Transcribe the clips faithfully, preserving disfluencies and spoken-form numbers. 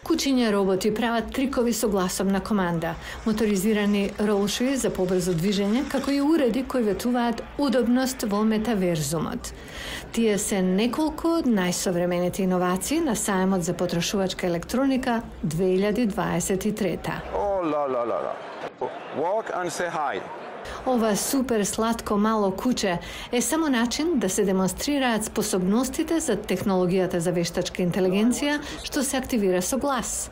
Кучиња роботи прават трикови со гласовна команда, моторизирани ролши за побрзо движење, како и уреди кои ветуваат удобност во метаверзумот. Тие се неколку од најсовремените иновации на сајмот за потрошувачка електроника две илјади дваесет и трета. Oh, la, la, la, la. Walk and say hi. Ова супер сладко мало куче е само начин да се демонстрираат способностите за технологијата за вештачка интелигенција што се активира со глас.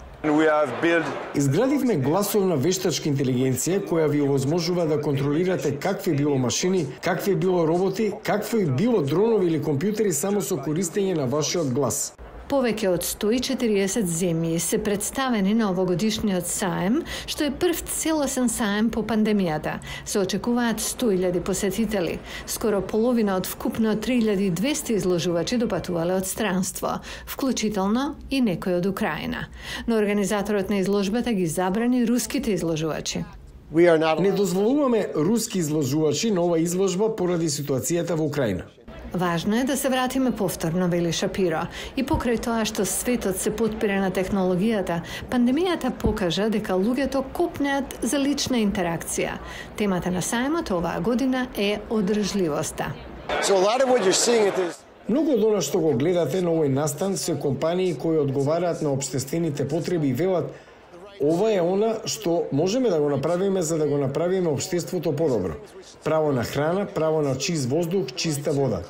Изградивме гласовна вештачка интелигенција која ви овозможува да контролирате какви било машини, какви било роботи, какви било дронови или компјутери само со користење на вашиот глас. Повеќе од сто и четириесет земји се представени на овогодишниот саем, што е прв целосен саем по пандемијата. Се очекуваат сто илјади посетители. Скоро половина од вкупно три илјади и двесте изложувачи допатувале од странство, вклучително и некој од Украина. Но организаторот на изложбата ги забрани руските изложувачи. Не дозволуваме руски изложувачи на ова изложба поради ситуацијата во Украина. Важно е да се вратиме повторно, вели Шапиро. И покрај тоа што светот се потпира на технологијата, пандемијата покажа дека луѓето копнеат за лична интеракција. Темата на сајмот оваа година е одржливоста. Многу од она што го гледате на овој настан се компании кои одговараат на општествените потреби и велат ова е она што можеме да го направиме за да го направиме општеството подобро. Право на храна, право на чист воздух, чиста вода.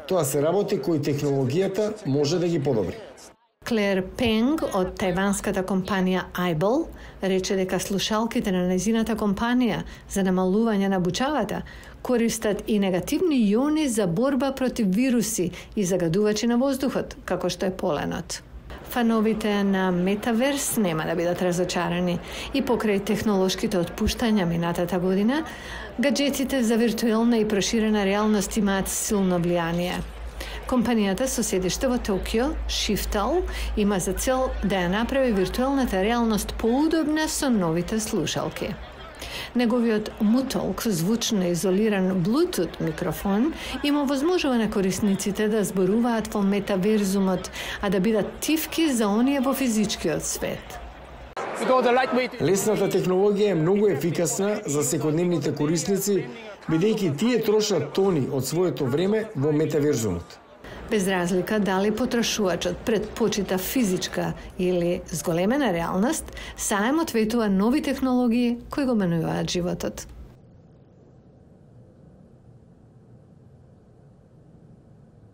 Тоа се работи кои технологијата може да ги подобри. Клер Пенг од тајванската компанија Aible рече дека слушалките на незината компанија за намалување на бучавата користат и негативни иони за борба против вируси и загадувачи на воздухот, како што е поленот. Фановите на Метаверс нема да бидат разочарани и покрај технолошките отпуштања минатата година, гаджетите за виртуелна и проширена реалност имаат силно влијание. Компанијата со седиште во Токио, Shiftal, има за цел да ја направи виртуелната реалност поудобна со новите слушалки. Неговиот Mutalk, звучно изолиран Bluetooth микрофон, им овозможува на корисниците да зборуваат во метаверзумот, а да бидат тивки за оние во физичкиот свет. Лесната технологија е многу ефикасна за секојдневните корисници, бидејќи тие трошат тони од своето време во метаверзумот. Без разлика дали потрошувачот предпочита физичка или зголемена реалност, саемот ветува нови технологии кои го менуваат животот.